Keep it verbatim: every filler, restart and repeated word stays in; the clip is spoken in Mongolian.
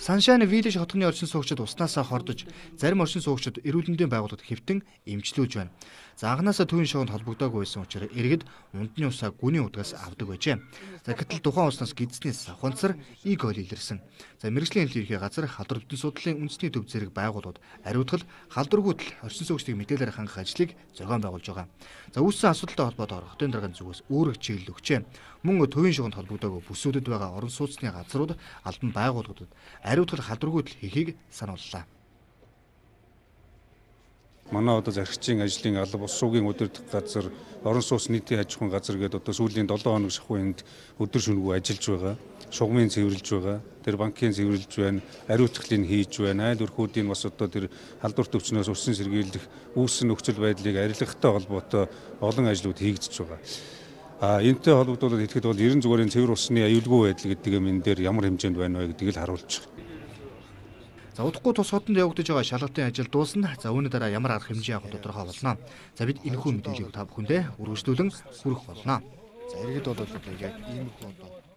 Sunshine Village хотны орчин суугчид уснасаа хордож, зарим орчин суугчид эрүүл мэндийн байгууллагад хэвтэн эмчлүүлж байна. За анханасаа төвийн шоунд холбогдоогүй байсан учраас иргэд унтны усаа гүний удгаас авдаг байжээ. За гэтэл тухайн уснаас гидснээс савханцар И. coli илэрсэн. За мэргэжлийн хэлхий газар халдвар бүтэн судлалын үндэсний төв зэрэг байгууллагууд ариутгал халдваргүйтэл орчин суугчдыг мэдээлэлээр хангах ажлыг зохион байгуулж байгаа. За үүссэн асуудалтай холбоотойгоор хотын дарганы зүгээс өөрөг чиглэл өгчээ. Мөн төвийн шоунд холбогдоогүй бүсүүдэд байгаа орон сууцны газрууд албан байгууллагуудад ариутгал халдваргүйтэл хийхийг санууллаа. Манай одоо зарчгийн ажлын алба ус суугийн удирдах газар, орон сууц нийтийн аж ахуйн газар гэдэг одоо сүүлийн долоон хоног шахуйнд өдөр шөнөгүй ажиллаж байгаа. Шугамын цэвэрлж байгаа. Тэр банкын цэвэрлж байна. Ариутгалыг хийж байна. Айл өрхүүдийн бас одоо тэр халдвар төвчнөөс усан сэргийлэх, үүссэн нөхцөл байдлыг арилгахтай холбоотой олон ажлууд хийгдэж байгаа. А энэтэй холбогдуулаад хэлэхэд бол ерөн зүгээрийн цэвэр усны аюулгүй байдал гэдэг юм энэ дээр ямар хэмжээнд байна вэ гэдгийг л харуулж байгаа. За удахгүй тус хотод явагдаж байгаа шалгалтын ажил дуусна. За үүний дараа ямар арга хэмжээ авах тодорхой болно. За бид энэхүү мэдээллийг та бүхэндээ үргэлжлүүлэн хүргэх болно. За иргэд бол яг иймэрхүү одоо